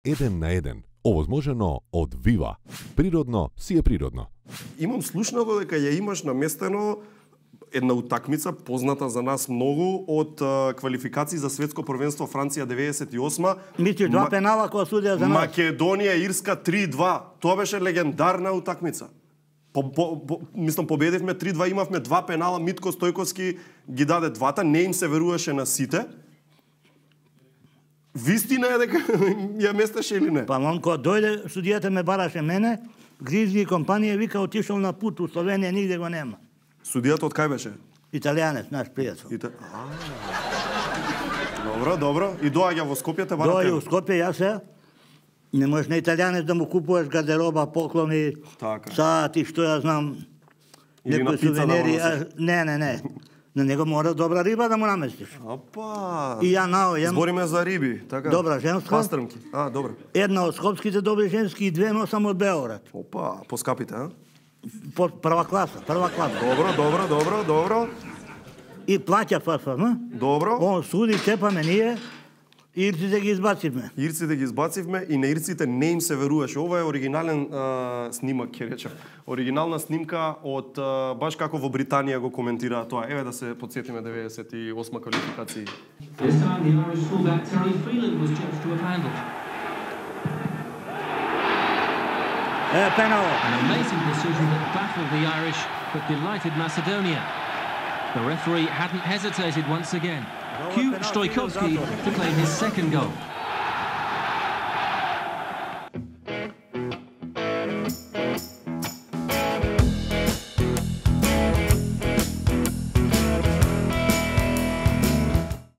1 на 1, овозможено од Вива. Природно си е природно. Имам слушнато дека ја имаш наместено една утакмица позната за нас многу од квалификации за светско првенство Франција 98. Мисли два пенала која судија за нас. Македонија Ирска 3-2. Тоа беше легендарна утакмица. Мислам победивме 3-2, имавме два пенала, Митко Стојковски ги даде двата, не им се веруваше на сите. Вистина е дека ја местеше или не? Па он кога дојде, судијата ме бараше мене, Гризли и компанија вика отишол на пут у Словенија, нигде го нема. Судијата од кај беше? Италијанец, наш пријател. Добро. И доаѓа во Скопје, те барате? Доаѓа во Скопје, јас се. Не можеш на италијанец да му купуваш гардероба, поклони, сати, што ја знам, некои сувенири. Не. На него мора добра риба да му наместиш. Опа! И ја наоѓам. Збориме за риби, така? Добра женска. Пастрмки. Добро. Една од скопските добри женски и две носам од Београд. Опа, поскапите, Прва класа. Добро. И плаќа ФФМ. Добро. Он суди, чепаме ние. Ирците ги избацивме и на ирците не им се веруваше. Ова е оригинален снимак, ќе речем. Оригинална снимка од баш како во Британија го коментираа тоа. Еве да се потсетиме 98 квалификации. This time the Irish fullback Terry Freeland was judged to have handled. Penal. An amazing decision that baffled the Irish but delighted Macedonia. The referee hadn't hesitated once again. Cue Stoikovski to claim his second goal.